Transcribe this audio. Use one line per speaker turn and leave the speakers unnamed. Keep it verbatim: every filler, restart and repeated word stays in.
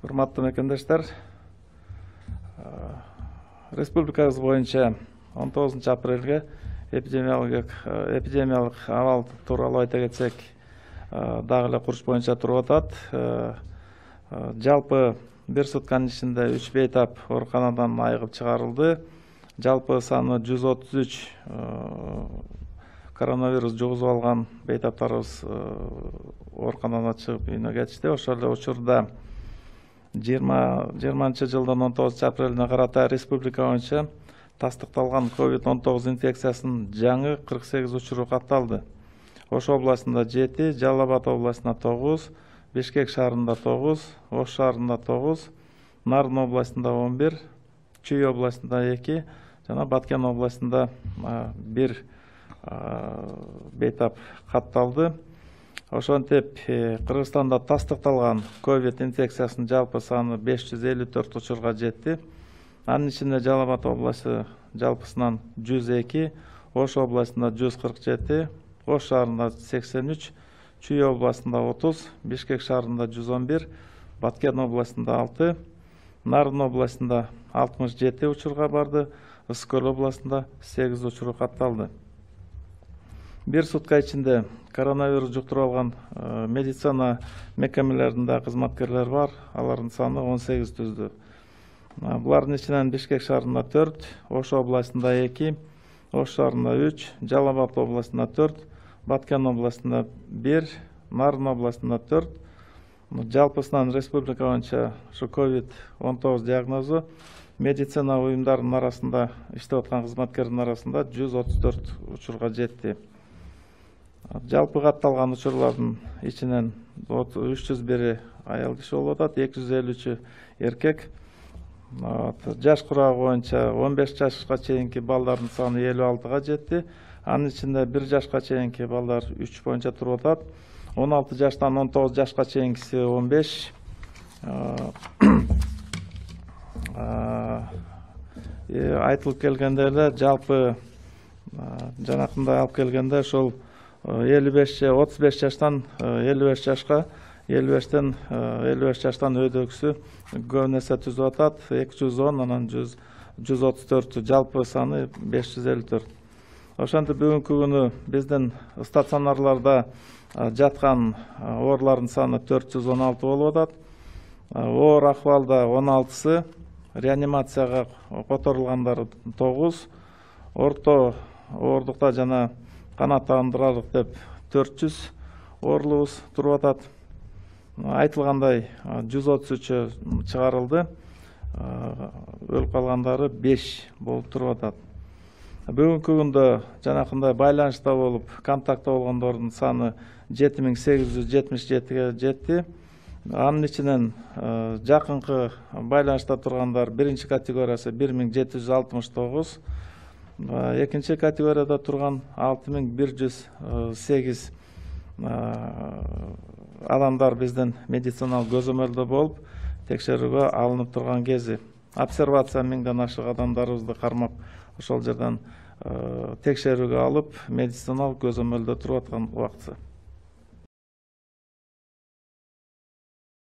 Урматтуу мекендештер, республикабыз боюнча он тогузунчу апрелге эпидемиологиялык эпидемиялык абал тууралуу айта кетсек, дагы эле куруш боюнча туруп атат. Жалпы бир сутканын ичинде үч бейтап ооруканадан айыгып чыгарылды. Жалпы саны жүз отуз үч коронавирус жугузуп алган бейтаптарыбыз ооруканадан чыгып үйүнө кетишти. Ошол эле учурда жыйырманчы жылдын он тогузунчу апрелине карата республика боюнча тастыкталган ковид он тогуз инфекциясынын жаңы кырк сегиз учуру катталды. Ош областында жети, Жалал Абад областында тогуз, Бишкек шаарында тогуз, Ош шаарында тогуз, Нарын областында он бир, Чүй областында эки жана Баткен областында бир бейтап катталды. Ошентип Кыргызстанда тастыкталган ковид инфекциясынын жалпы саны беш жүз элүү төрт учурга жетти. Анын ичинде Жалал Абад областы жалпысынан жүз эки, Ош областында жүз кырк жети, Ош шаарында сексен үч, Чүй областында отуз, Бишкек шаарында жүз он бир, Баткен областында алты, Нарын областында алтымыш жети учурга барды, Ысык Көл областында сегиз учуру катталды. Бир сутка ичинде коронавирус жуктуруп алган медицина мекемелеринде кызматкерлер бар, алардын саны он сегиз түздү. Булардын ичинен Бишкек шаарында төрт, Ош областында эки, Ош шаарында үч, Жалал Абад областында төрт, Баткен областында бир, Нарын областында төрт. Жалпысынан республика боюнча ушу ковид он тогуз диагнозу медицина уюмдарынын арасында иштеп аткан кызматкердин арасында жүз отуз төрт учурга жетти. Жалпы катталган учурлардын ичинен үч жүз бири аял киши болуп атат, эки жүз элүү үчү эркек. Жаш курагы боюнча он беш жашка чейинки балдардын саны элүү алтыга жетти. Анын ичинде бир жашка чейинки балдар үч боюнча туруп атат. он алты жаштан он тогуз жашка чейинкиси он беш. Айтылып келгенде эле жалпы жанакындай алып келгенде ошол элүү беш отуз беш жаштан элүү беш жашка, элүү бештен элүү беш жаштан өйдөгүсү көп нерсе түзүп атат. эки жүз он, анан жүз отуз төрт, жалпы саны беш жүз элүү төрт. Ошентип бүгүнкү күнү биздин стационарларда жаткан оорулардын саны төрт жүз он алты болуп атат. Оор акыбалда он алтысы, реанимацияга которулгандары тогуз, орто оордукта жана канааттандырарлык деп төрт жүз оорулубуз туруп атат. Айтылгандай жүз отуз үчү чыгарылды, өлүп калгандары беш болуп туруп атат. Бүгүнкү күндө жанакындай байланышта болуп, контактта болгондордун саны жети миң сегиз жүз жетимиш жетиге жетти. Анын ичинен жакынкы байланышта тургандар биринчи категориясы бир миң жети жүз алтымыш тогуз, экинчи категорияда турган алты миң бир жүз сегиз адамдар биздин медициналык көзөмөлдө болуп, текшерүүгө алынып турган кези. Обсервация миңден ашык адамдарыбызды кармап, ошол жерден текшерүүгө алып, медициналык көзөмөлдө туруп аткан убактысы.